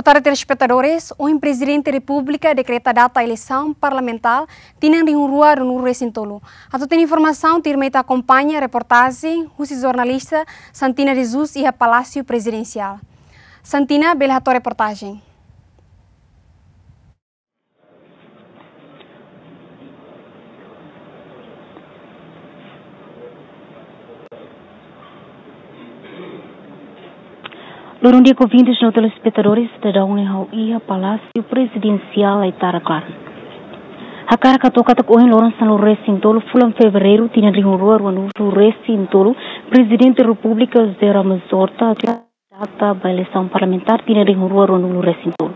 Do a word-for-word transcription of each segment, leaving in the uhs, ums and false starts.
Tarde, telespetadores, ohin Prezidente Repúblika dekreta data eleisaun parlamentár tinan rihun rua ruanulu resin tolu. Atu hatene informasaun, tuirmai ita akompaña reportajen husi jornalista Santina de Jesus iha Palásiu Prezidensiál. Santina, bele hato'o reportajen. Loron di'ak, ouvintes no telespetadores, ita daudaun ne'e ha'u iha Palásiu Prezidensiál Aitarak Klaran. Hakarak hato'o katak ohin loron sanulu resin tolu fulan Fevereiru tinan rihun rua ruanulu resin tolu, Prezidente Repúblika José Ramos Horta data ba eleisaun parlamentár tinan rihun rua ruanulu resin tolu.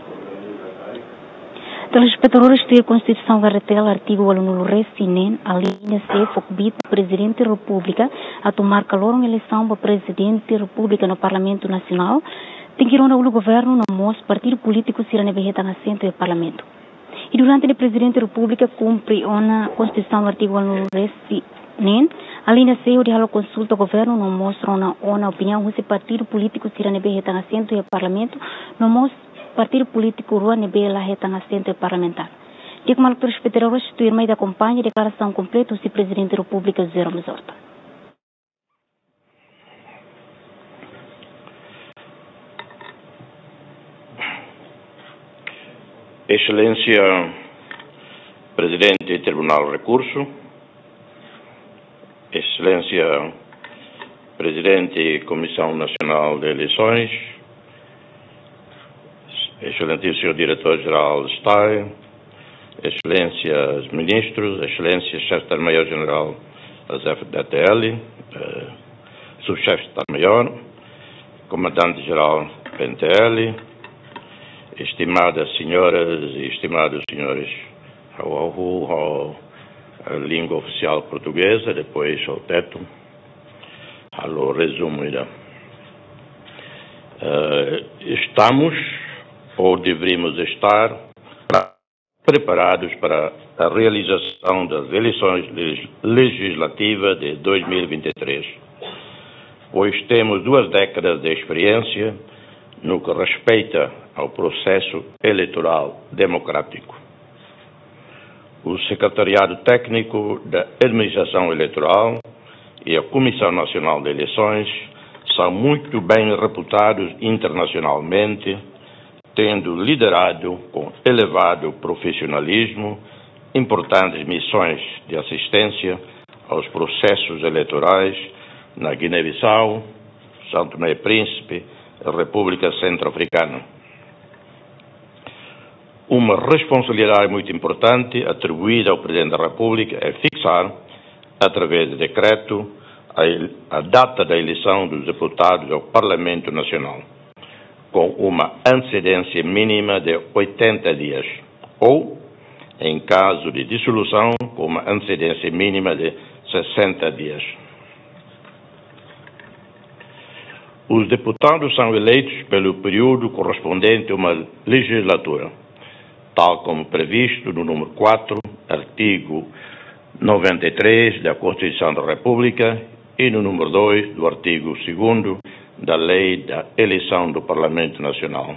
Telespetadores, tuir Konstituisaun R D T L artigu ualunulu resin neen, alínea C, fó kbiit ba Prezidente Repúblika atu marka loron eleisaun ba Prezidente Repúblika no Parlamentu Nasionál, tenke rona uluk governu no mós partidu polítiku sira ne'ebé hetan asentu iha Parlamentu. I durante ne'e Prezidente Repúblika kumpre ona Konstituisaun artigu ualunulu resin neen, alínea C, hodi halo konsulta governu no mós rona ona opiniaun husi partidu polítiku sira ne'ebé hetan asentu iha Parlamentu, no mós partidu polítiku rua ne'ebé la hetan asentu iha parlamentár. Di'ak maluk telespetadores, tuirmai ita akompaña deklarasaun kompletu husi Prezidente Repúblika José Ramos Horta. Exelénsia Prezidente Tribunál Rekursu, Exelénsia Prezidente Komisaun Nasionál de Eleisoens, Exelentíssimo Diretór Jerál de Estadu, Exelénsias Ministrus, Exelénsia Xefe Estadu-Maiór Jerál Exérsitu D T L, eh, Subxefe Estadu-Maiór, Komandante Jerál P N T L, estimadas senhoras e estimados senhores, ha'u, ha'u, ha'u, eh, língua ofisiál portugeza, depois ha'u tenta halo rezumu ida. Eh, estamos, ou deveríamos estar, preparados para a realização das eleições legis-, legislativas de dois mil e vinte e três, pois temos duas décadas de experiência no que respeita ao processo eleitoral democrático. O Secretariado Técnico da Administração Eleitoral e a Comissão Nacional de Eleições são muito bem reputados internacionalmente, tendo liderado com elevado profissionalismo importantes missões de assistência aos processos eleitorais na Guiné-Bissau, São Tomé e Príncipe, República Centro-Africana. Uma responsabilidade muito importante atribuída ao Presidente da República é fixar, através de decreto, a, a data da eleição dos deputados ao Parlamento Nacional, com uma antecedência mínima de oitenta dias, ou, em caso de dissolução, com uma antecedência mínima de sessenta dias. Os deputados são eleitos pelo período correspondente a uma legislatura, tal como previsto no número quatro, artigo noventa e três da Constituição da República e no número dois do artigo segundo da Lei da Eleição do Parlamento Nacional.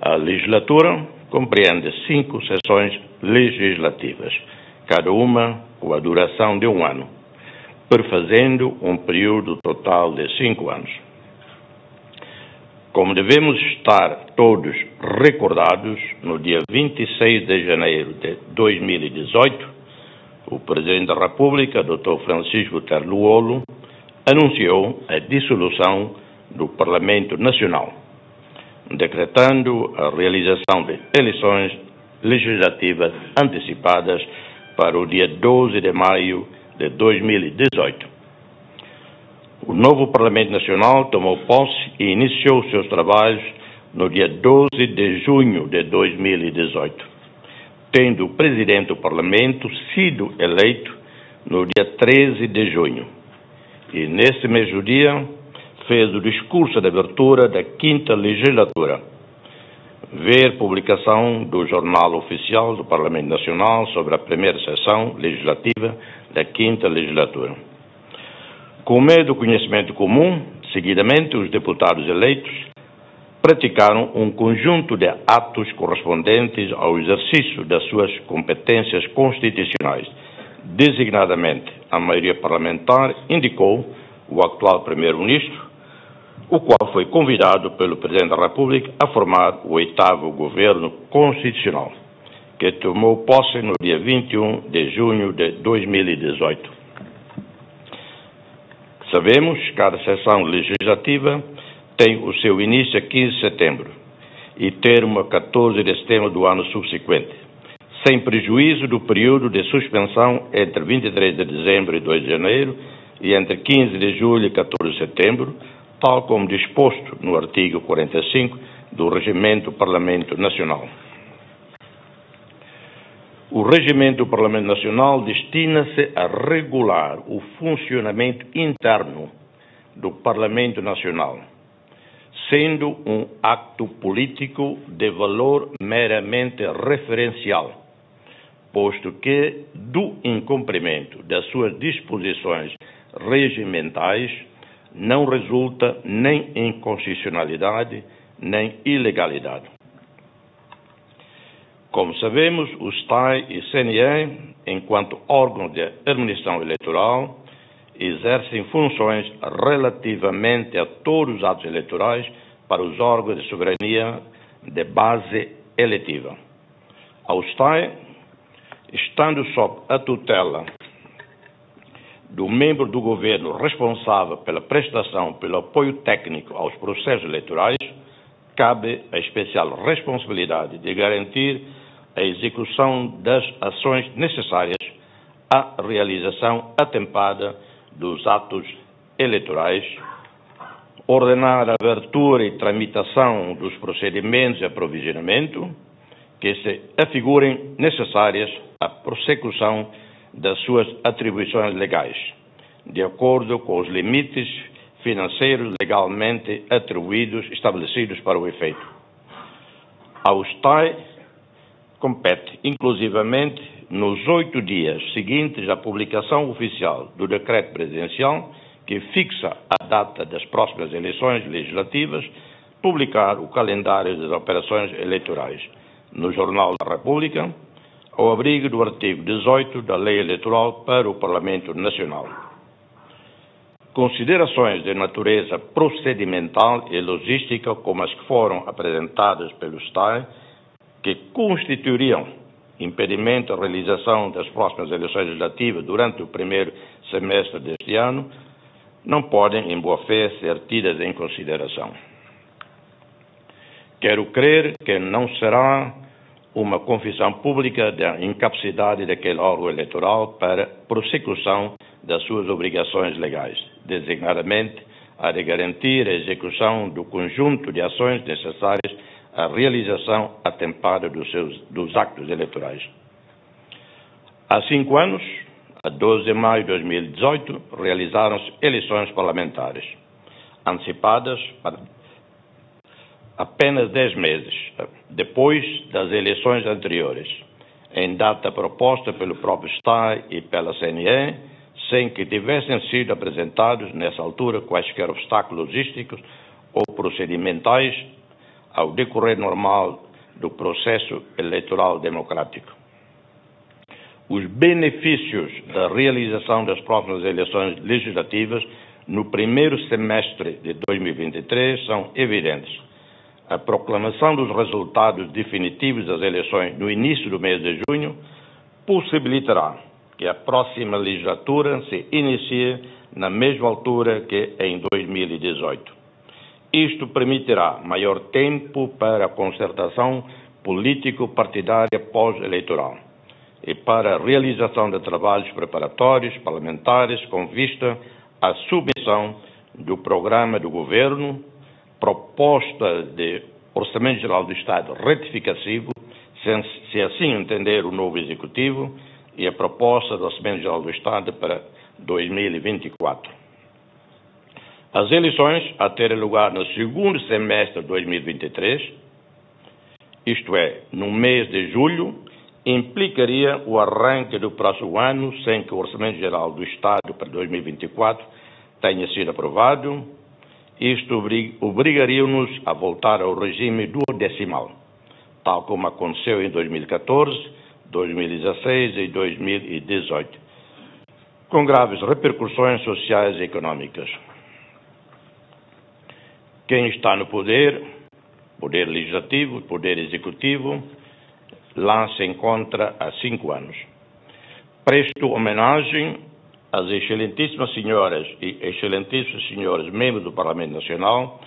A legislatura compreende cinco sessões legislativas, cada uma com a duração de um ano, perfazendo um período total de cinco anos. Como devemos estar todos recordados, no dia vinte e seis de janeiro de dois mil e dezoito, o Presidente da República, doutor Francisco Guterres Lú-Olo, anunciou a dissolução do Parlamento Nacional, decretando a realização de eleições legislativas antecipadas para o dia doze de maio de dois mil e dezoito. O novo Parlamento Nacional tomou posse e iniciou seus trabalhos no dia doze de junho de dois mil e dezoito, tendo o presidente do Parlamento sido eleito no dia treze de junho. E, nesse mesmo dia, fez o discurso de abertura da quinta legislatura. Ver publicação do Jornal Oficial do Parlamento Nacional sobre a primeira sessão legislativa da quinta legislatura. Como é do conhecimento comum, seguidamente os deputados eleitos praticaram um conjunto de atos correspondentes ao exercício das suas competências constitucionais. Designadamente, a maioria parlamentar indicou o atual primeiro-ministro, o qual foi convidado pelo Presidente da República a formar o oitavo governo constitucional, que tomou posse no dia vinte e um de junho de dois mil e dezoito. Sabemos, cada sessão legislativa tem o seu início a quinze de setembro e termo a catorze de setembro do ano subsequente, sem prejuízo do período de suspensão entre vinte e três de dezembro e dois de janeiro e entre quinze de julho e catorze de setembro, tal como disposto no artigo quarenta e cinco do Regimento do Parlamento Nacional. O Regimento do Parlamento Nacional destina-se a regular o funcionamento interno do Parlamento Nacional, sendo um acto político de valor meramente referencial, posto que, do incumprimento das suas disposições regimentais, não resulta nem inconstitucionalidade, nem ilegalidade. Como sabemos, o STAE e CNE, enquanto órgãos de administração eleitoral, exercem funções relativamente a todos os atos eleitorais para os órgãos de soberania de base eletiva. Ao STAE, estando sob a tutela do membro do governo responsável pela prestação pelo apoio técnico aos processos eleitorais, cabe a especial responsabilidade de garantir a execução das ações necessárias à realização atempada dos atos eleitorais, ordenar a abertura e tramitação dos procedimentos de aprovisionamento que se afigurem necessárias à prossecução das suas atribuições legais, de acordo com os limites financeiros legalmente atribuídos, estabelecidos para o efeito. Ao STAE compete, inclusivamente, nos oito dias seguintes à publicação oficial do decreto presidencial que fixa a data das próximas eleições legislativas, publicar o calendário das operações eleitorais no Jornal da República, ao abrigo do artigo dezoito da Lei Eleitoral para o Parlamento Nacional. Considerações de natureza procedimental e logística, como as que foram apresentadas pelo STAE, que constituiriam impedimento à realização das próximas eleições legislativas durante o primeiro semestre deste ano, não podem, em boa fé, ser tidas em consideração. Quero crer que não será uma confissão pública da incapacidade daquele órgão eleitoral para prossecução das suas obrigações legais, designadamente a de garantir a execução do conjunto de ações necessárias à realização atempada dos seus, dos actos eleitorais. Há cinco anos, a doze de maio de dois mil e dezoito, realizaram-se eleições parlamentares antecipadas para apenas dez meses depois das eleições anteriores, em data proposta pelo próprio STAE e pela CNE, sem que tivessem sido apresentados, nessa altura, quaisquer obstáculos logísticos ou procedimentais ao decorrer normal do processo eleitoral democrático. Os benefícios da realização das próximas eleições legislativas no primeiro semestre de dois mil e vinte e três são evidentes. A proclamação dos resultados definitivos das eleições no início do mês de junho possibilitará que a próxima legislatura se inicie na mesma altura que em dois mil e dezoito. Isto permitirá maior tempo para a concertação político-partidária pós-eleitoral e para a realização de trabalhos preparatórios parlamentares com vista à submissão do programa do governo, proposta de Orçamento Geral do Estado retificativo, se, se assim entender o novo Executivo, e a proposta do Orçamento Geral do Estado para dois mil e vinte e quatro. As eleições a terem lugar no segundo semestre de dois mil e vinte e três, isto é, no mês de julho, implicaria o arranque do próximo ano sem que o Orçamento Geral do Estado para dois mil e vinte e quatro tenha sido aprovado Isto obri-, obrigaria-nos a voltar ao regime duodecimal, tal como aconteceu em dois mil e catorze, dois mil e dezasseis e dois mil e dezoito, com graves repercussões sociais e económicas. Quem está no poder, poder legislativo, poder executivo, lá se encontra há cinco anos. Presto homenagem às excelentíssimas senhoras e excelentíssimos senhores membros do Parlamento Nacional,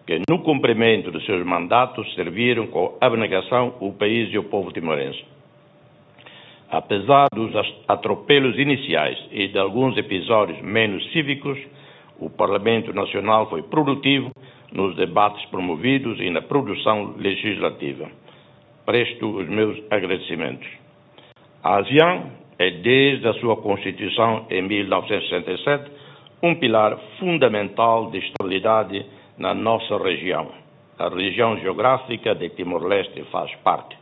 que, no cumprimento de seus mandatos, serviram com abnegação o país e o povo timorense. Apesar dos as-, atropelos iniciais e de alguns episódios menos cívicos, o Parlamento Nacional foi produtivo nos debates promovidos e na produção legislativa. Presto os meus agradecimentos. A ASEAN é, desde a sua constituição em mil novecentos e sessenta e sete, um pilar fundamental de estabilidade na nossa região. A região geográfica de Timor-Leste faz parte.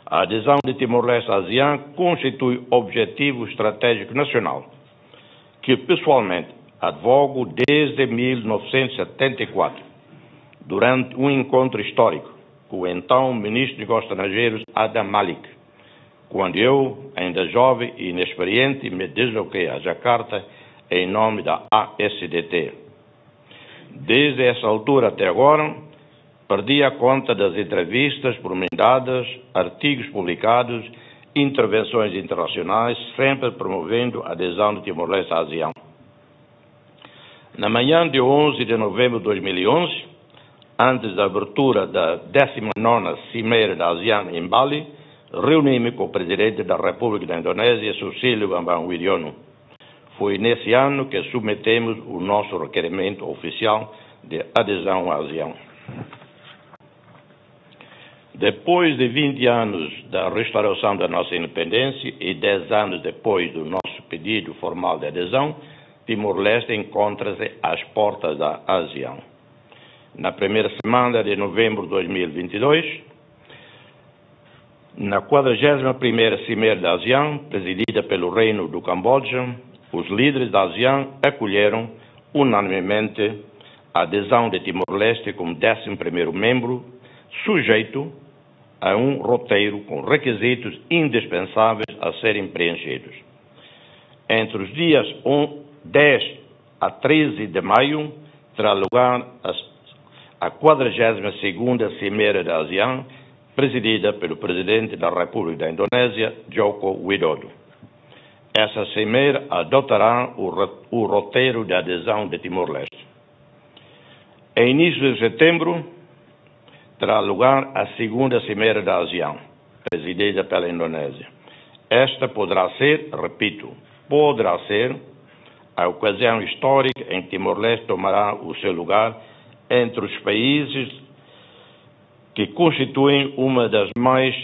A adesão de Timor-Leste à ASEAN constitui objetivo estratégico nacional, que pessoalmente advogo desde mil novecentos e setenta e quatro, durante um encontro histórico com o então Ministro dos Negócios Estrangeiros, Adam Malik, quando eu, ainda jovem e inexperiente, me desloquei a Jakarta em nome da A S D T. Desde essa altura até agora, perdi a conta das entrevistas por mim dadas, artigos publicados, intervenções internacionais, sempre promovendo a adesão de Timor-Leste à ASEAN. Na manhã de onze de novembro de dois mil e onze, antes da abertura da décima nona Cimeira da ASEAN em Bali, reuni-me com o Presidente da República da Indonésia, Susilo Bambang Yudhoyono. Foi nesse ano que submetemos o nosso requerimento oficial de adesão à ASEAN. Depois de vinte anos da restauração da nossa independência e dez anos depois do nosso pedido formal de adesão, Timor-Leste encontra-se às portas da ASEAN. Na primeira semana de novembro de dois mil e vinte e dois, na quadragésima primeira Cimeira da ASEAN, presidida pelo Reino do Camboja, os líderes da ASEAN acolheram unanimemente a adesão de Timor-Leste como décimo primeiro membro, sujeito a um roteiro com requisitos indispensáveis a serem preenchidos. Entre os dias um, dez a treze de maio, terá lugar a, a quadragésima segunda Cimeira da ASEAN, presidida pelo Presidente da República da Indonésia, Joko Widodo. Essa cimeira adotará o ro-, o roteiro de adesão de Timor-Leste. Em início de setembro, terá lugar a segunda Cimeira da ASEAN, presidida pela Indonésia. Esta poderá ser, repito, poderá ser a ocasião histórica em que Timor-Leste tomará o seu lugar entre os países que constituem uma das mais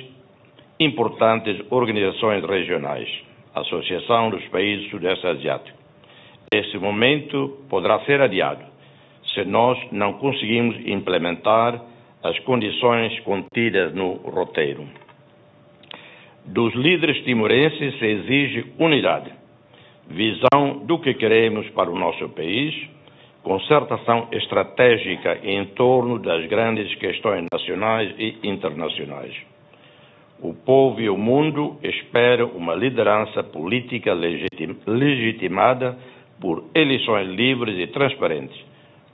importantes organizações regionais, Associação dos Países Sudeste Asiáticos. Esse momento poderá ser adiado, se nós não conseguirmos implementar as condições contidas no roteiro. Dos líderes timorenses se exige unidade, visão do que queremos para o nosso país, concertação estratégica em torno das grandes questões nacionais e internacionais. O povo e o mundo esperam uma liderança política legitim-, legitimada por eleições livres e transparentes,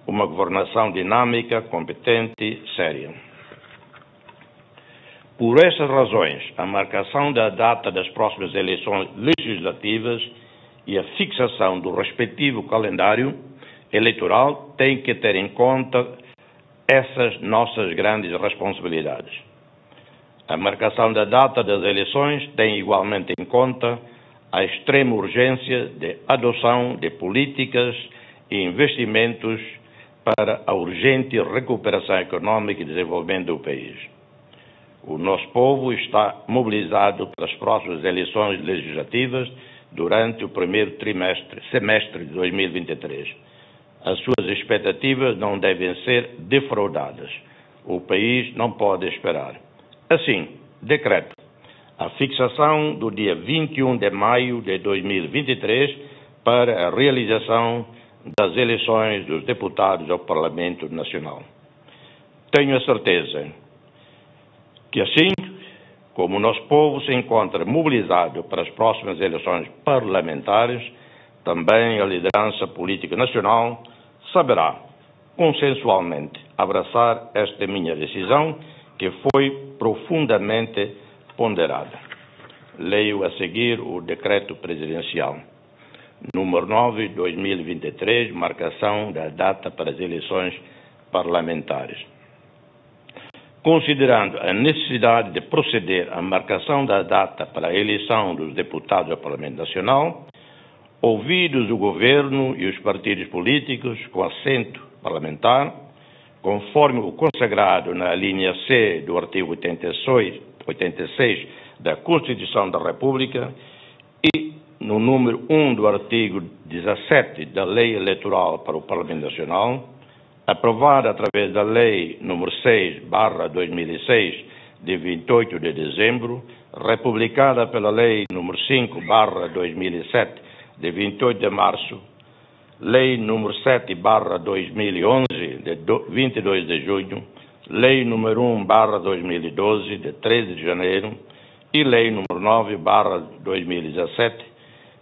uma governação dinâmica, competente, séria. Por estas razões, a marcação da data das próximas eleições legislativas e a fixação do respectivo calendário eleitoral têm que ter em conta essas nossas grandes responsabilidades. A marcação da data das eleições tem igualmente em conta a extrema urgência de adoção de políticas e investimentos para a urgente recuperação económica e desenvolvimento do país. O nosso povo está mobilizado para as próximas eleições legislativas durante o primeiro trimestre, semestre de dois mil e vinte e três. As suas expectativas não devem ser defraudadas. O país não pode esperar. Assim, decreto a fixação do dia vinte e um de maio de dois mil e vinte e três para a realização das eleições dos deputados ao Parlamento Nacional. Tenho a certeza que, assim como nosso povo se encontra mobilizado para as próximas eleições parlamentares, também a liderança política nacional saberá consensualmente abraçar esta minha decisão, que foi profundamente ponderada. Leio a seguir o decreto presidencial número nove, dois mil e vinte e três, marcação da data para as eleições parlamentares. Considerando a necessidade de proceder à marcação da data para a eleição dos deputados ao Parlamento Nacional, ouvidos o governo e os partidos políticos com assento parlamentar, conforme o consagrado na alínea C do artigo oitenta e seis, oitenta e seis da Constituição da República e no número um do artigo dezassete da Lei Eleitoral para o Parlamento Nacional, aprovada através da Lei número seis barra dois mil e seis, de vinte e oito de dezembro, republicada pela Lei número cinco barra dois mil e sete, de vinte e oito de março, Lei número sete barra dois mil e onze, de do-, vinte e dois de junho, Lei número um barra dois mil e doze, de treze de janeiro, e Lei número nove barra dois mil e dezassete,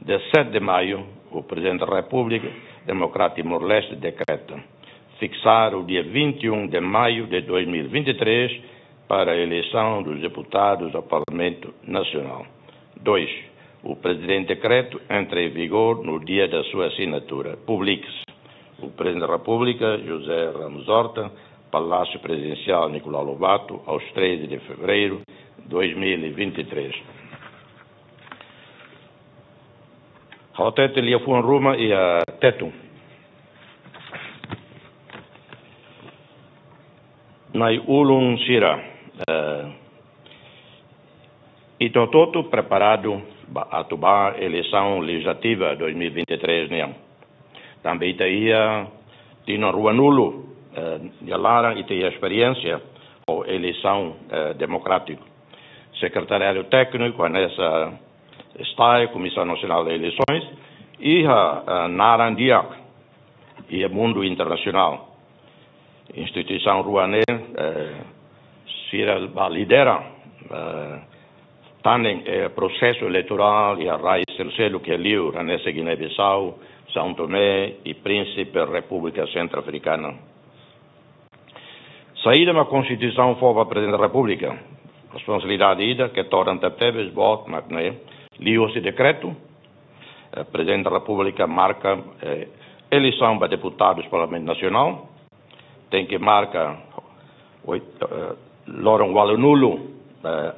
de sete de maio, o Presidente da República Democrática de Timor-Leste decreta fixar o dia vinte e um de maio de dois mil e vinte e três para a eleição dos deputados ao Parlamento Nacional. Dois, o presente decreto entra em vigor no dia da sua assinatura. Publique-se. O Presidente da República, José Ramos Horta, Palácio Presidencial Nicolau Lobato, aos treze de fevereiro de dois mil e vinte e três. Ha'u hatete liafuan ruma iha Tetun. Na'i-ulun sira, eh, ita hotu-hotu preparadu ba, atu ba eleisaun lejizlativa dois mil e vinte e três nian. Tanba ita iha tinan ruanulu, eh, nia laran ita iha esperiénsia ho eleisaun, eh, demokrátiku. Sekretariadu Tékniku hanesan STAE, Comissão Nacional de Eleições, iha, eh, naran di'ak iha mundu internasionál. Instituisaun rua ne'e, eh, sira ba lidera, eh, tan ne'e, eh, prosesu eleitorál iha rai seluk-seluk iha liur, hanesan Guiné-Bissau, São Tomé e Príncipe, República Centro-Africana. Saida mak Konstituisaun fó ba Prezidente da Repúblika? Responsabilidade ida ke todan tebetebes boot mak ne'e, liuhusi dekretu, eh, Prezidente da Repúblika marka, eh, eleisaun ba deputadus Parlamentu Nasionál, tenke marka oit-, eh, loron ualunulu, eh,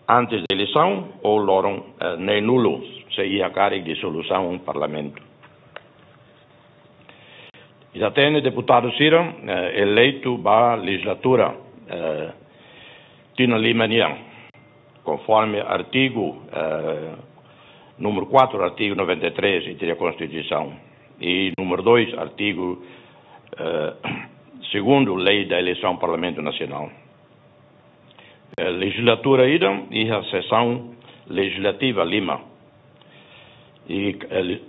antes de eleisaun ou loron, eh, neenulu, se iha karik disolusaun Parlamentu. Ita hatene deputadu sira, eh, eleitu ba lejizlatura, eh, tinan lima nian, konforme artigu, eh, número quatro, artigu noventa e três, ita-nia Konstituisaun, e número dois, artigu, eh, segundu, Lei da Eleição Parlamento Nacional. Eh, lejizlatura ida iha sesaun lejizlativa lima. I, eh, le-,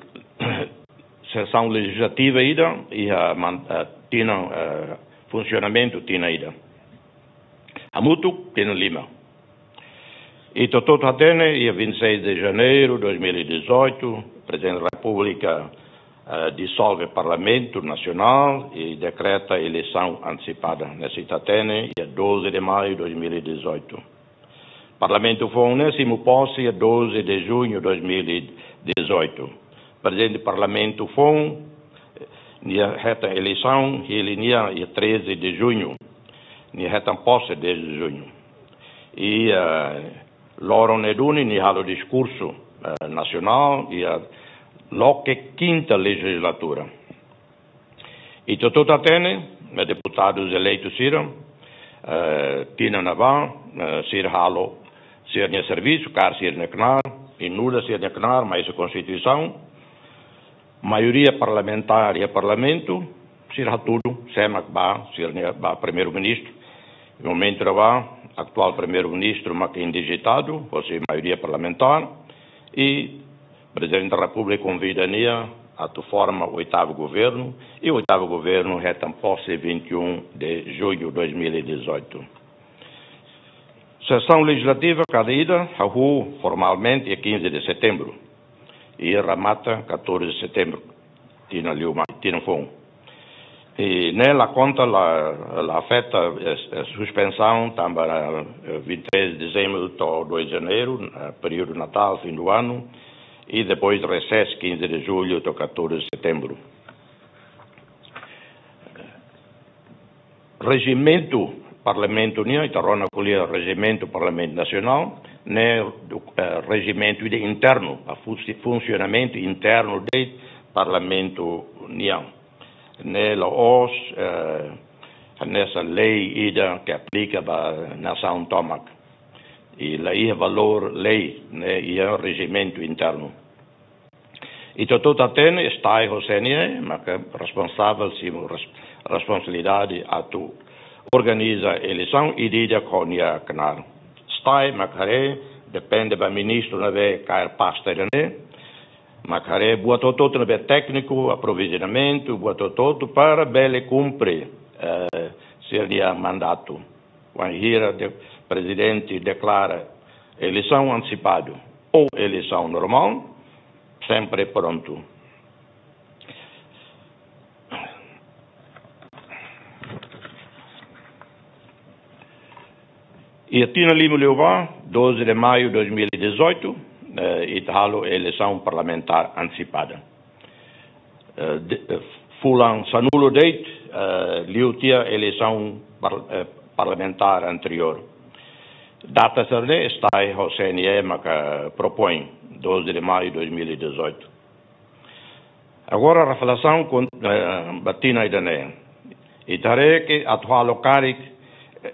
sesaun lejizlativa ida iha man-, eh, tinan, eh, funsionamentu tinan ida. Hamutuk tinan lima. Ita hotu-hotu hatene, iha vinte e seis de janeiro de dois mil e dezoito, Prezidente da Repúblika, eh, disolve Parlamentu Nasionál i dekreta eleisaun antesipada. Ne'e ita hatene, iha doze de maio de dois mil e dezoito. Parlamentu foun ne'e simu pose iha doze de junho de dois mil e dezoito. Prezidente Parlamentu foun, eh, nia hetan eleisaun, hili nia iha treze de junho. Nia hetan pose dez de junho. I, eh, loron ne'e duni nia halo diskursu, eh, nasionál, iha loke kinta lejizlatura. Ita hotu-hotu hatene, eh, deputadus eleitus sira, eh, tinan ne'ebá, eh, sira halo sira-nia servisu, kaer sira-nia knaar, i nu'udar sira-nia knaar, mai husi Konstituisaun, maioria parlamentár iha Parlamentu, sira hatudu sé mak ba, sira-nia ba Primeiru-Ministru. Momentu ne'ebá, atuál Primeiru-Ministru mak indijitadu, hosi maioria parlamentár, i Prezidente da Repúblika konvida nia atu forma oitavu governu, i oitavu governu hetan pose vinte e um de junho de dois mil e dezoito. Sesaun lejizlativa kada ida hahú formalmente iha quinze de setembro i remata catorze de setembro, tinan liu mai, tinan foun. I ne'e la konta, la, la afeta, eh, eh, suspensaun tanba, eh, vinte e três de dezembro to'o dois de janeiro, eh, períodu Natal, fim do ano, i depois resesu quinze de julho to'o catorze de setembro. Rejimentu Parlamentu nian, ita rona ko'alia rejimentu Parlamentu Nasionál, ne'e, eh, rejimentu ida internu, ba funsi-, funsionamentu internu de Parlamentu nian. Ne'e la'ós, eh, hanesan lei ida ke aplika ba nasaun tomak. I la iha valór lei, ne'e iha rejimentu internu. Ita hotu hatene STAE ho CNE maka responsavel, simu res-, responsabilidade atu organiza eleisaun ida-idak ho nia knaar. STAE mak haree, depende ba ministru ne'ebé kaer pasta ida-ne'e, mak haree buat hotu-hotu ne'ebé tékniku, aprovizionamentu, buat hotu-hotu para bele kumpre, eh, sira-nia mandatu. Wainhira de-, prezidente deklara eleisaun antesipadu ou eleisaun normál, sempre prontu. Iha tinan lima liubá, doze de maio dois mil e dezoito, eh, ita halo eleisaun parlamentár antesipada. Eh, de-, eh, fulan sanulu de'it, eh, liu tiha eleisaun par-, eh, parlamentár anteriór. Data sira-ne'e STAE ho CNE maka propoin, doze de maio de dois mil e dezoito. Agora, reflesaun kon-, eh, ba tinan ida-ne'e. Ita haree ke atu halo karik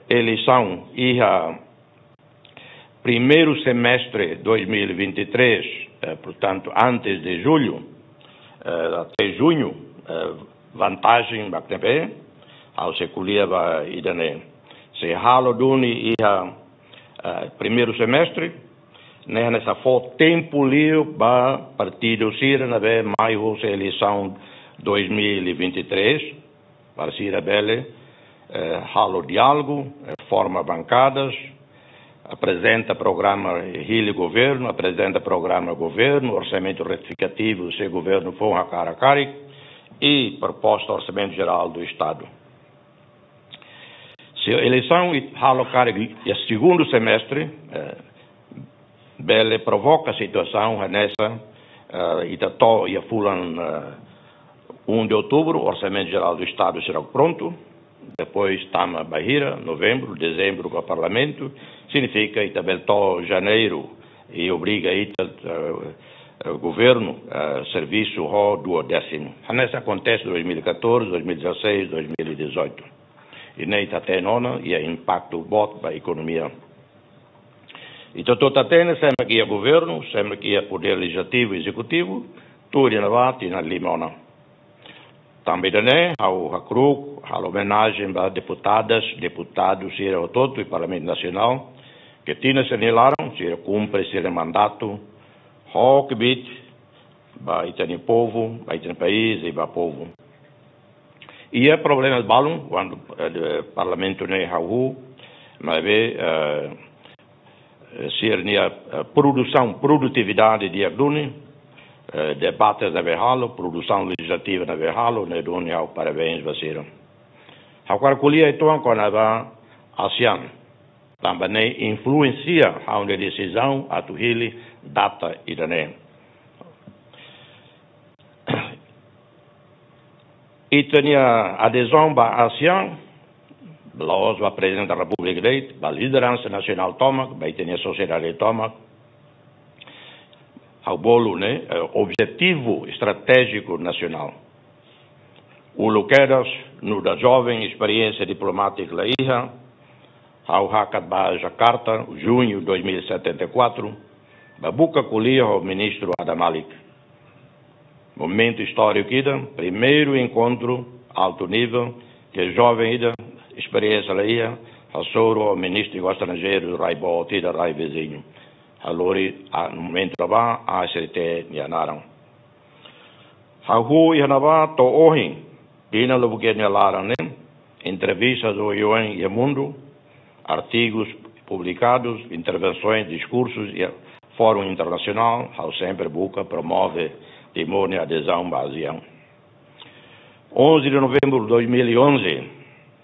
eleisaun iha primeiru semestre dois mil e vinte e três, eh, portantu, antes de julho, eh, até junho, eh, vantajen ba T P, ha'u sei ko'alia ba ida-ne'e. Se halo duni iha, eh, primeiru semestre, ne'e hanesan fó tempu liu ba partidu sira ne'ebé mai husi eleisaun dois mil e vinte e três, para sira bele, eh, halo diálogu, eh, forma bankadas, aprezenta programa, eh, hili governu, aprezenta programa governu, orsamentu retifikativu, se governu fó hakarak karik, i proposta orsamentu jerál do Estadu. Se eleisaun i-, halo karik iha segundu semestre, eh, bele provoka situasaun hanesan, eh, ita to'o iha fulan, eh, um de outubro, Orsamentu Jerál do Estadu seidauk prontu, depois tama bainhira, novembru, dezembru, ba Parlamentu, signifika ita bele to'o janeiru, i obriga ita, eh, eh, governu, eh, servisu ho duodésimu. Hanesan akontese dois mil e catorze, dois mil e dezasseis, dois mil e dezoito. I ne'e ita hatene ona, iha impaktu boot ba ekonomia. Ita hotu hatene, sé mak iha governu, sé mak iha podér lejizlativu, ezekutivu, tuir nia tinan lima ona. Tanba ida-ne'e, ha'u hakru'uk halo omenajen ba deputadas, deputadu sira hotu-hotu iha Parlamentu Nasionál, ke tinan sira-nia laran, sira kumpre sira-nia mandatu, ho kbiit, ba ita-nia povu, ba ita-nia país, i ba povu. Iha problema balun, kuandu, eh, Parlamentu ne'e hahú, maibé, eh, eh, sira-nia, eh, produsaun, produtividade di'ak duni, eh, debate ne'ebé halo, produsaun lejizlativa ne'ebé halo, ne'e duni ha'u parabéns ba sira. Ha'u hakarak ko'alia uitoan kona-ba ASEAN, tanba ne'e influensia ha'u-nia desizaun atu hili data ida-ne'e. Ita-nia adezaun ba ASEAN, la'ós ba Prezidente da Repúblika de'it, ba lideransa nasionál tomak, ba ita-nia sosiedade tomak. Ha'u bolu ne'e, eh, objetivu estratéjiku nasionál. Uluk kedas, nu'udar joven, esperiénsia diplomátika la iha, ha'u hakat ba Jakarta, juñu dois mil e setenta e quatro, ba buka ko'alia ho Ministru Adam Malik. Momentu istóriku ida, primeiru enkontru altu nivel, ke joven ida, esperiénsia la iha, hasoru ho Ministru Estranjeiru rai boot ida, rai viziñu. Ha'u lori, ah, momentu ne'ebá, A S T nia naran. Hahú iha ne'ebá to'o ohin, tinan lubuk ida nia laran ne'e, entrevistas oioin iha mundu, artigus publikadus, intervensoens, diskursus iha fórum internasionál, ha'u sempre buka promove Timor nia adezaun ba ASEAN. Onze de novembro de dois mil e onze,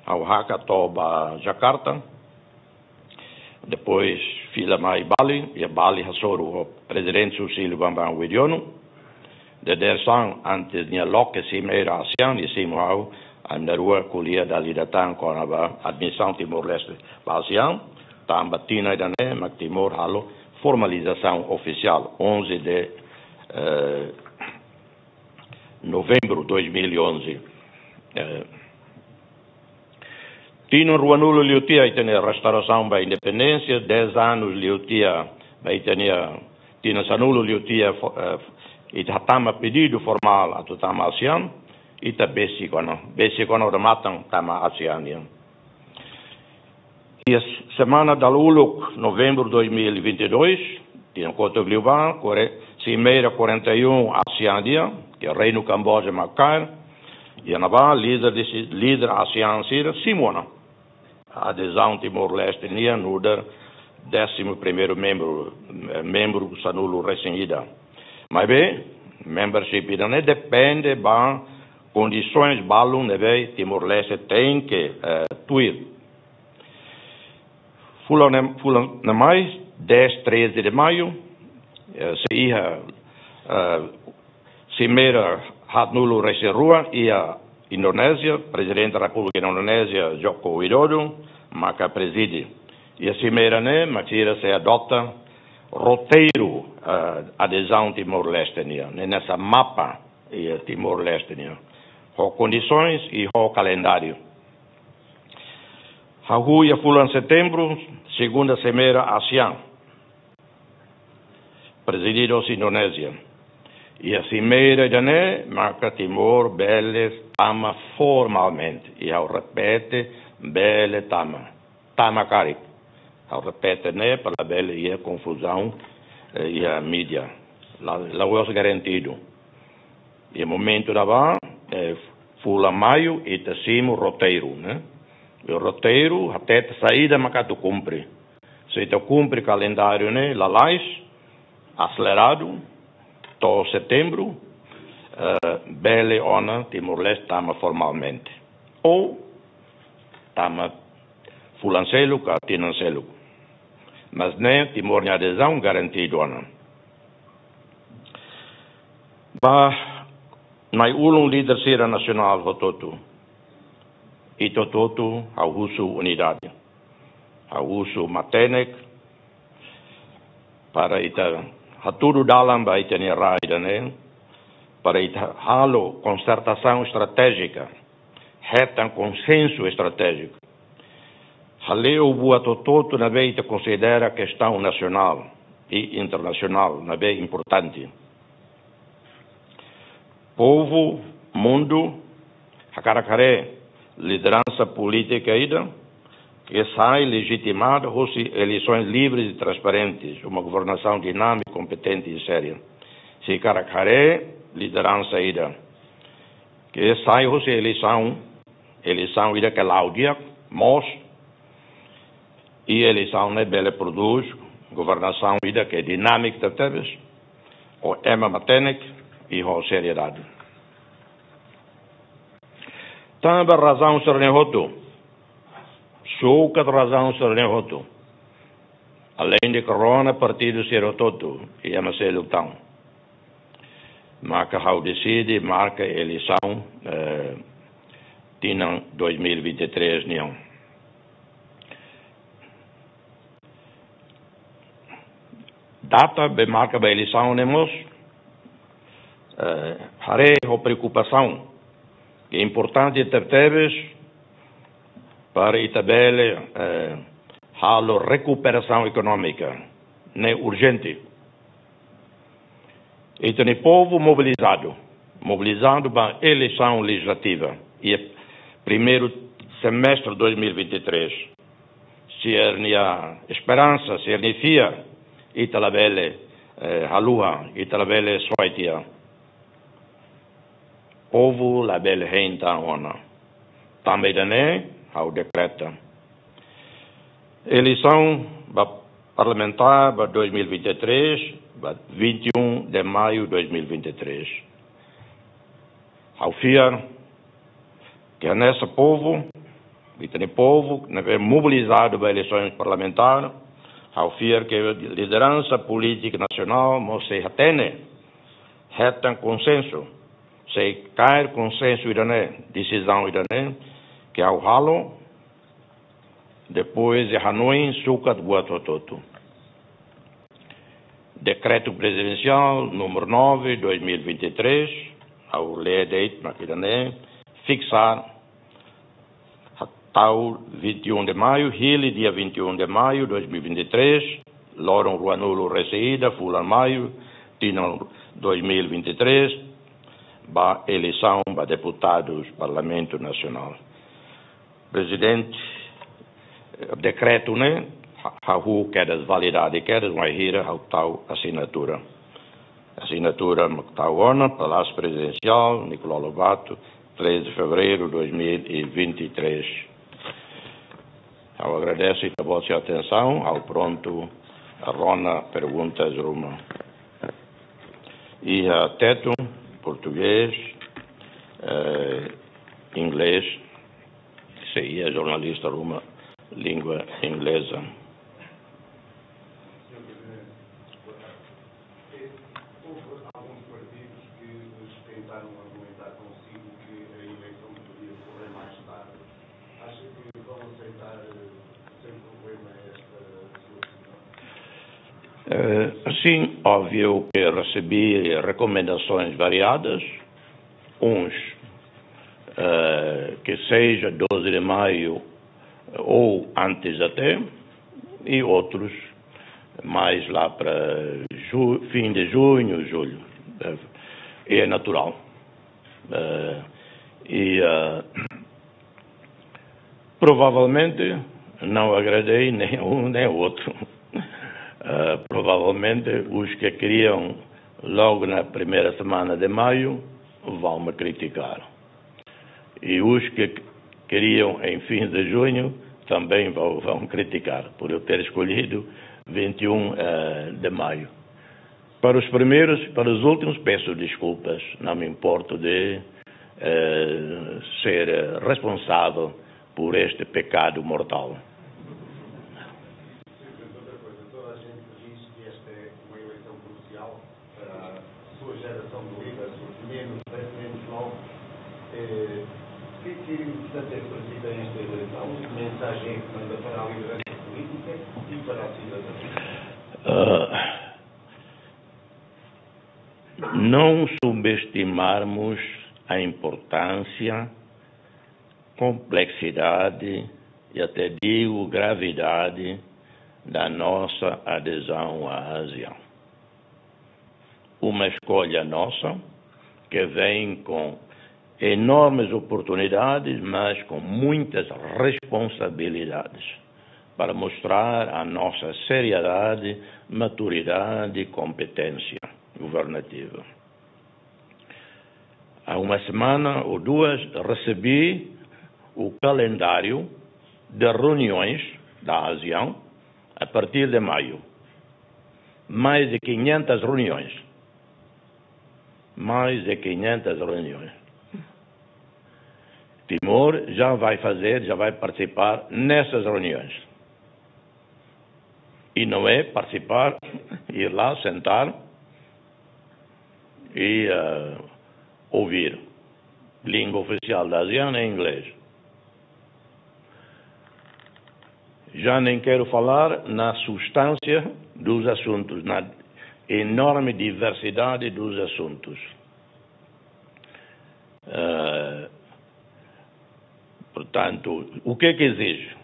ha'u hakat to'o ba Jakarta, depois fila mai Bali, iha Bali hasoru ho Prezidente Susilo Bambang Yudhoyono. Dadeer-saan antes nia loke simeira ASEAN, nia simu ha'u, ami na'in-rua ko'alia dala ida tan kona-ba admisaun Timor-Leste ba ASEAN, tanba tinan ida-ne'e mak Timor halo formalizasaun ofisiál, onze de, eh, novembro dois mil e onze. Eh, tinan ruanulu liu tiha ita-nia restaurasaun ba independénsia, dez anos liu tiha ba ita-nia, tinan sanulu liu tiha fo-, eh, ita hatama pedidu formál atu tama ASEAN, ita besik ona, besik ona odamatan tama ASEAN nian. Iha semana dala uluk, novembro dois mil e vinte e dois, tinan kotuk liubá, kore-, simeira quarenta e um ASEAN nian, ke Reinu Kamboja mak kaer, iha ne'ebá líder de si-, líder ASEAN sira simu ona adezaun Timor-Leste nian nu'udar décimo primeiro membro, eh, membru sanulu resin ida. Maibé, membership ida-ne'e depende ba kondisoens balun ne'ebé Timor-Leste tenke, eh, tuir. Fulan ne'e, fulan ne'e mai, dez, treze de maio, eh, sei iha, eh, simeira haatnulu resin rua iha Indonézia, Prezidente Repúblika Indonézia, Joko Widodo, maka prezide. Iha simeira ne'e, mak sira sei adota roteiru, eh, adezaun Timor-Leste nian, ne'e hanesan mapa iha Timor-Leste nian, ho kondisoens i ho kalendáriu. Hahú iha fulan setembru, segunda simeira ASEAN, prezididu hosi Indonézia. Iha simeira ida-ne'e, maka Timor bele tama formalmente. I ha'u repete, bele tama. Tama karik. Ha'u repete ne'e para labele iha konfuzaun, eh, iha mídia. La, la'ós garantidu. Iha momentu ne'ebá, eh, fulan maiu, ita simu roteiru, ne'e? I roteiru, hatete saida maka atu kumpre. Se ita kumpre kalendáriu ne'e, lalais, aseleradu, to'o setembru, eh, bele ona Timor-Leste tama formalmente. Ou tama fulan seluk ka tinan seluk. Mas ne'e Timor nia adezaun garantidu ona. Ba nai-ulun líder sira nasionál hotu-hotu. Ita hotu-hotu ha'u husu unidade. Ha'u husu matenek para ita hatudu dalan ba ita-nia rai ida-ne'e, para ita halo konsertasaun estratéjika, hetan konsensu estratéjiku. Hale'u buat hotu-hotu ne'ebé ita konsidera kestaun nasionál i internasionál ne'ebé importante. Povu, mundu, hakarak haree lideransa polítika ida ke sai lejitimada hosi eleisoens livres i transparentes, uma governasaun dinámika, kompetente i séria. Sei hakarak haree lideransa ida ke sai hosi eleisaun, eleisaun ida ke la'o di'ak, moos, i eleisaun ne'e bele prodús governasaun ida ke dinámika tebetebes, ho ema matenek i ho seriedade. Tanba razaun sira-ne'e hotu, sukat razaun sira-ne'e hotu, aleinde korona partidu sira hotu-hotu, i ema seluk tan, maka ha'u deside marka eleisaun, eh, tinan dois mil e vinte e três nian. Data be marka ba eleisaun ne'e mós, eh, haree ho preokupasaun ke importante tebetebes para ita bele, eh, halo rekuperasaun ekonómika, ne'e urjente. Ita-nia povu mobilizadu, mobilizadu ba eleisaun lejizlativa iha primeiru semestre dois mil e vinte e três. Sira-nia esperansa, sira-nia fiar, ita labele, eh, haluha, ita labele soe tiha. Povu labele hein tan ona. Tanba ida-ne'e, ha'u dekreta eleisaun ba parlamentár ba dois mil e vinte e três, ba vinte e um de maio dois mil e vinte e três. Ha'u fiar ke hanesan povu, ita-nia povu ne'ebé mobilizadu ba eleisaun parlamentár, ha'u fiar ke lideransa polítika nasionál mós sei hatene, hetan konsensu, sei kaer konsensu ida-ne'e, desizaun ida-ne'e ke ha'u halo, depois de hanoin sukat buat hotu-hotu. Dekretu Prezidensiál número nove, dois mil e vinte e três, ha'u lee de'it mak ida-ne'e, fiksar, tau vinte e um de maio, hili dia vinte e um de maio dois mil e vinte e três, loron ruanulu-resin-ida, fulan maiu, tinan dois mil e vinte e três, ba eleisaun ba deputadus Parlamentu Nasionál. Prezidente, eh, dekretu ne'e, ha-, hahú kedas validade kedas, wainhira ha'u tau asinatura. Asinatura mak tau ona, Palásiu Prezidensiál, Nicolau Lobato, três de fevereiro dois mil e vinte e três. Ha'u agradese ita-boot sira atensaun, ha'u prontu rona perguntas ruma. Iha Tetun, portugés, eh, inglés, se iha jornalista ruma língua inglesa. Houve alguns partidos que tentaram argumentar consigo que a eleição poderia decorrer mais tarde. Acha que vão aceitar, eh, sem problema esta sua decisão? Eh, sim, óbvio que recebi recomendações variadas. Uns, eh, que seja doze de maio ou antes até, e outros mais lá para ju-, fim de junho, julho. Eh, é natural. Eh, e, eh, provavelmente não agradei nem um nem outro. Eh, provavelmente os que queriam logo na primeira semana de maio vão me criticar. E os que queriam em fim de junho também vão, vão criticar por eu ter escolhido vinte e um, eh, de maio. Para os primeiros, para os últimos, peço desculpas. Não me importo de, eh, ser, eh, responsável por este pecado mortal. Outra coisa, toda a gente diz que esta é uma eleição crucial para a sua geração de líderes, os menos dez, menos nove. Eh, o que é que, portanto, é que transmite esta eleição? Que mensagem é que manda para a liderança política e para a cidadania? Ah, não subestimarmos a importância, complexidade e até digo gravidade da nossa adesão à ASEAN. Uma escolha nossa que vem com enormes oportunidades, mas com muitas responsabilidades, para mostrar a nossa seriedade, maturidade e competência governativa. Há uma semana ou duas recebi o calendário de reuniões da ASEAN a partir de maio. Mais de quinhentas reuniões. Mais de quinhentas reuniões. Timor já vai fazer, já vai participar nessas reuniões. E não é participar, ir lá, sentar e, eh, ouvir. Língua oficial da ASEAN é inglês. Já nem quero falar na substância dos assuntos, na enorme diversidade dos assuntos. Eh, portanto, o que é que exige?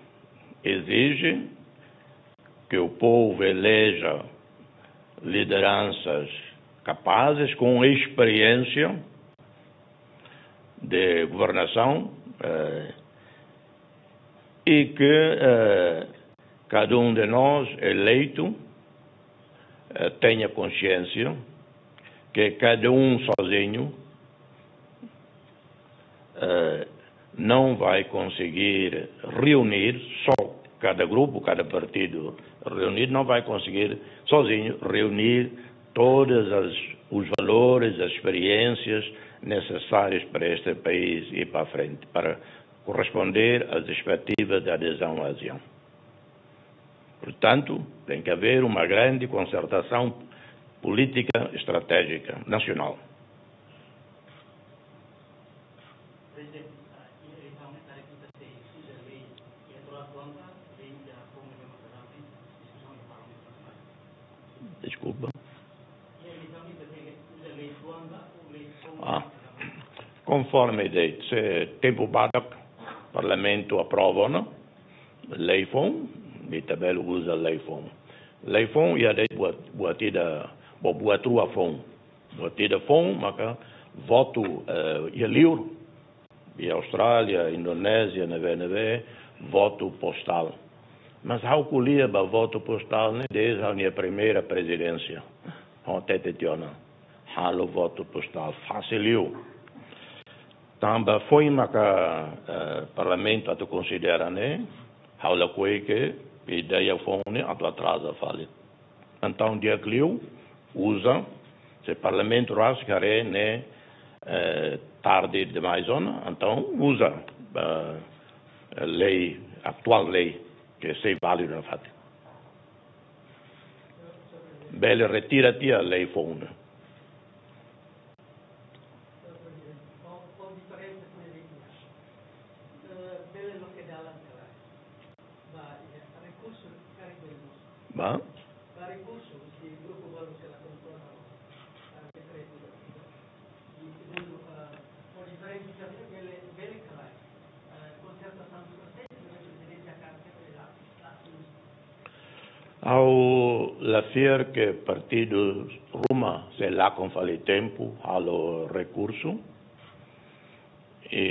Exige que o povo eleja lideranças capazes, com experiência de governação, eh, e que, eh, cada um de nós, eleito, eh, tenha consciência que cada um sozinho eh, não vai conseguir reunir, só cada grupo, cada partido reunido, não vai conseguir sozinho reunir todas as, os valores, as experiências necessárias para este país ir para frente, para corresponder às expectativas de adesão à ASEAN. Portanto, tem que haver uma grande concertação política estratégica nacional. Desculpa. Ah, konforme de se tempu badak, Parlamentu aprova ona lei foun, ita bele uza lei foun. Lei foun iha de'it buat, buat ida, bo buat rua foun. Buat ida foun maka votu, eh, iha liur. Iha Austrália, Indonézia, ne'ebé, ne'ebé, votu postál. Mas ha'u ko'alia ba votu postál ne'e desde ha'u-nia primeira prezidénsia. Ho hatete tiha ona, halo votu postál fasil liu. Tanba foin maka, eh, Parlamentu atu konsidera ne'e, ha'u lakohi ke ideia foun ne'e atu atraza fali. Entaun di'ak liu uza, se Parlamentu rasik haree ne'e, eh, tarde demais ona, entaun uza, eh, lei, atuál lei, ke sei válidu nafatin. Bele retira tiha lei foun ne'e. Ba? Ha'u la fiar ke partidu ruma sei lakon fali tempu halo rekursu. I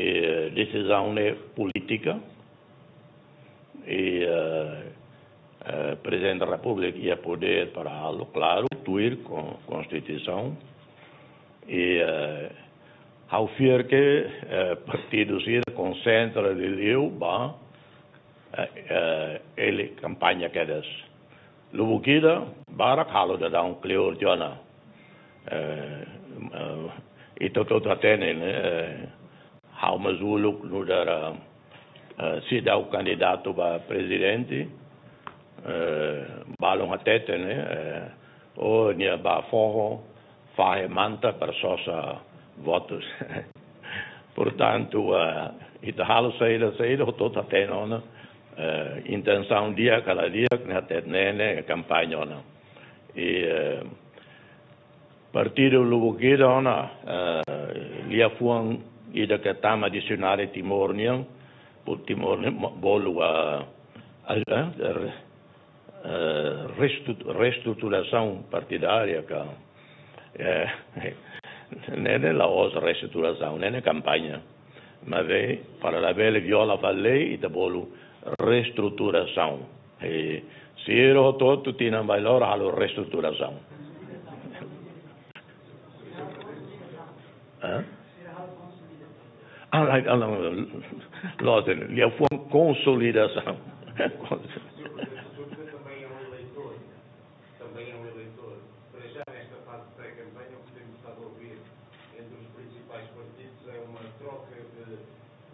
desizaun ne'e polítika. I, eh, eh, Prezidente da Repúblika iha podér para halo, klaru, tuir kon-, Konstituisaun. I, eh, ha'u fiar ke, eh, partidu sira konsentra liuliu ba, eh, eh, ele kampaña kedas. Lubuk ida, barak halo daudaun kleur tiha ona. Eh, eh, ita hotu hatene, ne'e, eh, ha'u mós uluk nu'udar, eh, seidauk kandidatu ba prezidente, eh, balun hatete, ne'e, eh, o nia ba foho, fahe manta para sosa votus. Portantu, eh, ita halo saida, saida, hotu hatene ona, eh, intensaun di'ak ka la di'ak, ne'e hatete ne'e, ne'e kampaña ona. I, eh, partidu lubuk ida ona, eh, liafuan ida ke tama disionari Timor nian, pu Timor nian mo-, bolu, ah, ah, eh, re-, eh, restru-, reestruturasaun partidária ka, eh, ne'e, ne'e la'ós reestruturasaun, ne'e, ne'e kampaña. Maibé, para labele viola fali lei, ita bolu reestruturasaun. I sira hotu-hotu tinan bailoro halo reestruturasaun. Hã? Ah, la, ah, la, loos, liafuan konsolidasaun. Também é um eleitor. Para já, nesta fase de pré-campanha, o que temos estado a ouvir entre os principais partidos é uma troca de,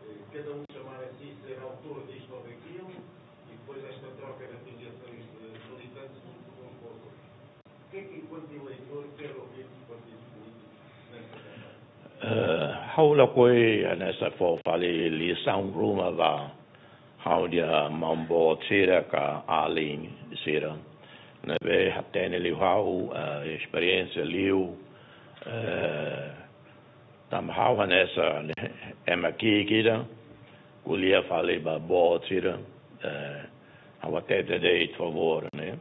eh, cada um chamar a si ser autor disto ou daquilo, e depois esta troca de afiliações de militantes, um por um com os outros. O que é que, enquanto eleitor, quer ouvir dos partidos políticos nesta campanha? Eh, ha'u lakohi hanesan fó fali lisaun ruma ba ha'u-nia maun-boot sira ka alin sira. Ne'ebé hatene liu ha'u, eh, esperiénsia liu, eh, tanba ha'u hanesan, ne'e, ema ki'ik ida, ko'alia fali ba boot sira, eh, ha'u hatete de'it favór, ne'e.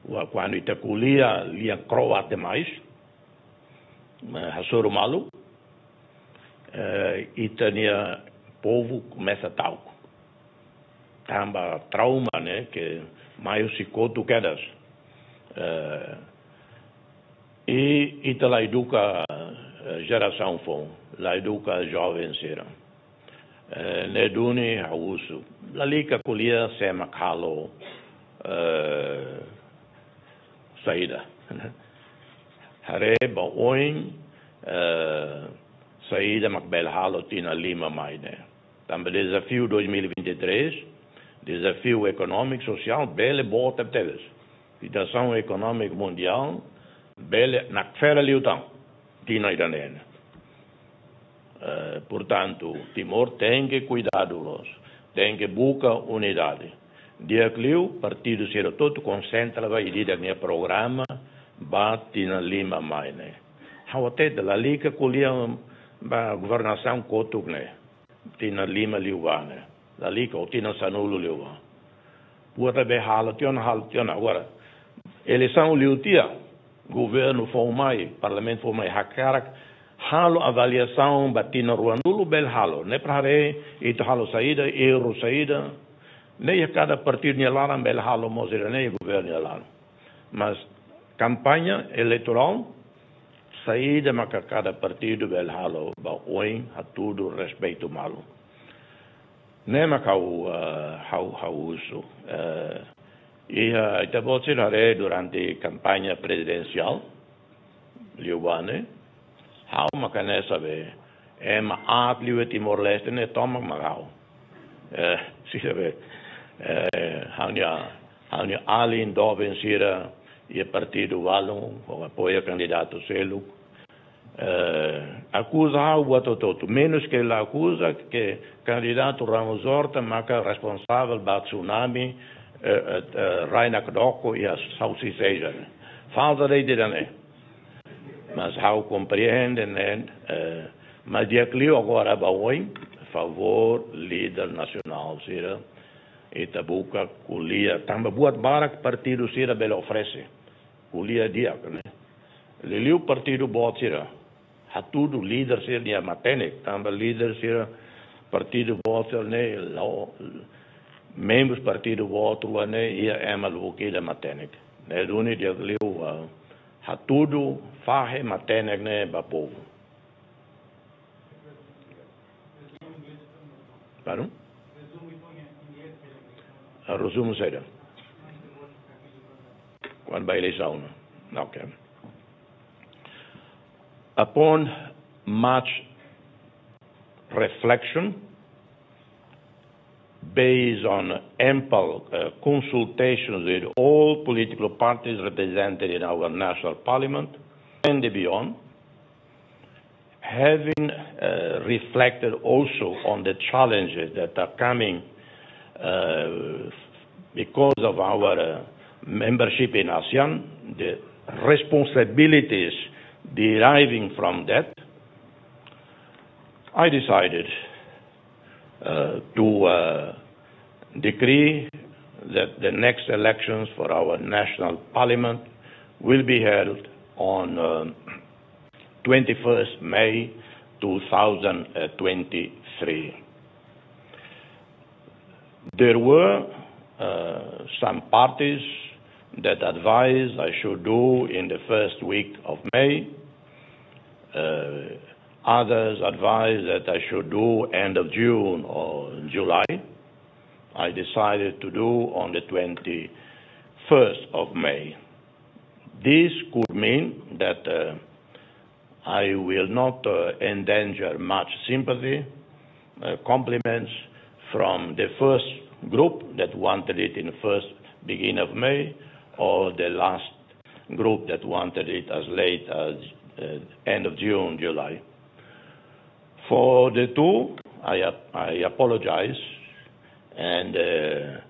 Wa kuandu ita ko'alia lian kro'at demais, eh, hasoru malu, eh, ita-nia povu komesa ta'uk. Tanba trauma, ne'e, ke mai husi kotuk kedas. Eh, i ita la eduka, jerasaun foun, la eduka joven sira. Eh, ne'e duni ha'u husu. Lalika ko'alia sé mak halo, eh, saida. Haree ba oin, eh, saida mak bele halo tinan lima mai ne'e. Tanba dezafiu dois mil e vinte e três, dezafiu ekonómiku, sosiál, bele boot tebes. Situasaun ekonómika mundiál, bele nakfera liután tinan ida-ne'e. Eh, portantu, Timor tenke kuidadu loos, tenke buka unidade. Di'ak liu, partidu sira hotu konsentra ba ida-idak nia programa ba tinan lima mai ne'e. Ha'u hatete lalika ko'alia ba governasaun kotuk ne'e. Tinan lima liu ba ne'e. Lalika, ou tinan sanulu liu ba. Buat ne'ebé halo tiha ona, halo tiha ona. Agora, eleisaun liu tiha, governu foun mai, parlamentu foun mai, hakarak halo avaliasaun ba tinan ruanulu bele halo. Ne'e para haree, ita halo saida, erru saida. Ne'e iha kada partidu nia laran bele halo mós ida-ne'e governu nia laran. Mas kampaña eleitorál, saida maka kada partidu bele halo ba oin hatudu respeitu malu. Ne'e mak ha'u, eh, ha'u, ha'u husu. Eh, iha ita-boot sira haree durante kampaña prezidensiál, liu ba ne'e, ha'u mak hanesan be, ema aat liu iha Timor-Leste ne'e tomak mak ha'u. Eh, sira be, eh, ha'u-nia, ha'u-nia alin doben sira iha partidu balun, ho apoia kandidatu seluk. Eh, akuza ha'u buat hotu-hotu. Menus ke la akuza ke kandidatu Ramos Horta maka responsavel ba tsunami, eh, eh, eh, rai nakdoko iha Southeast Asia. Falta de ida-ne'e. Mas ha'u komprende ne'e, eh, mas di'ak liu agora ba oin, favór líder nasionál sira, ita buka ko'alia, tanba buat barak partidu sira bele oferese. Ko'alia di'ak ne'e. Liuliu partidu boot sira. Hatudu líder sira-nia matenek, tanba líder sira partidu boot sira ne'e la'o, membrus partidu boot rua ne'e iha ema lubuk ida matenek. Ne'e duni di'ak liu, ah, hatudu fahe matenek ne'e ba povu. Pardon? Ah, rezumu saida? Kona-ba eleisaun, no? Ok. Upon much reflection, based on ample, uh, consultations with all political parties represented in our national parliament and beyond, having, uh, reflected also on the challenges that are coming, uh, because of our, uh, membership in ASEAN, the responsibilities deriving from that, I decided, uh, to, uh, decree that the next elections for our national parliament will be held on, uh, twenty-first May two thousand twenty-three. There were, uh, some parties that advised I should do in the first week of May. Uh, others advised that I should do end of June or July. I decided to do on the twenty-first of May. This could mean that, uh, I will not, uh, endanger much sympathy, uh, compliments from the first group that wanted it in the first beginning of May, or the last group that wanted it as late as, uh, end of June, July. For the two, I ap-, I apologize and, uh,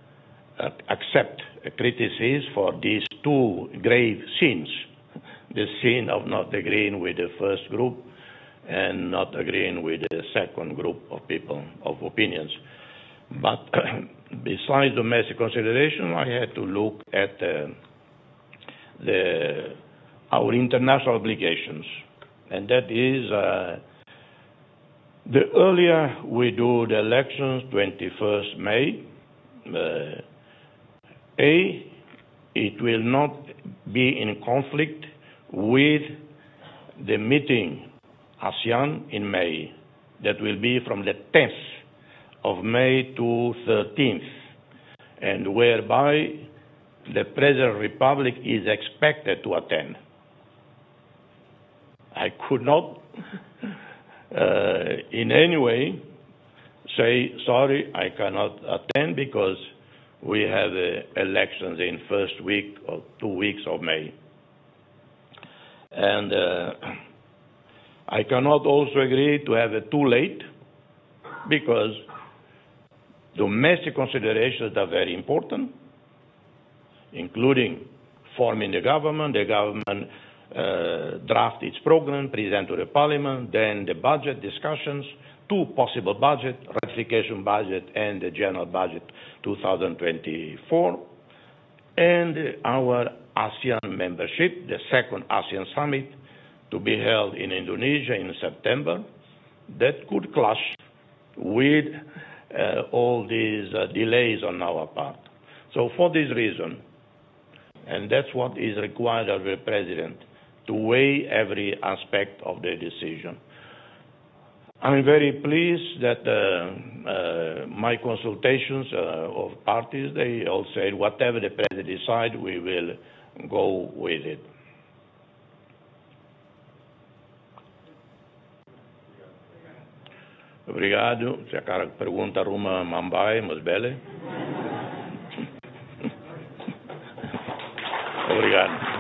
ac-, accept criticism for these two grave sins, the sin of not agreeing with the first group and not agreeing with the second group of people, of opinions. But besides domestic consideration, I had to look at, uh, the, our international obligations, and that is, uh, the earlier we do the elections, twenty-first May, uh, A, it will not be in conflict with the meeting ASEAN in May. That will be from the tenth of May to thirteenth, and whereby the President of the Republic is expected to attend. I could not, uh, in any way say, "Sorry, I cannot attend because we have, uh, elections in first week or two weeks of May." And, uh, I cannot also agree to have it too late because domestic considerations are very important, including forming the government, the government, uh, draft its program, present to the parliament, then the budget discussions, two possible budget, ratification budget and the general budget two thousand twenty-four, and our ASEAN membership, the second ASEAN summit to be held in Indonesia in September, that could clash with, uh, all these, uh, delays on our part. So for this reason, and that's what is required of the President, to weigh every aspect of the decision. I'm very pleased that, uh, uh, my consultations, uh, of parties, they all said, "Whatever the President decide, we will go with it." Obrigadu. Se hakarak pergunta ruma, manán bele, mas bele. Obrigadu.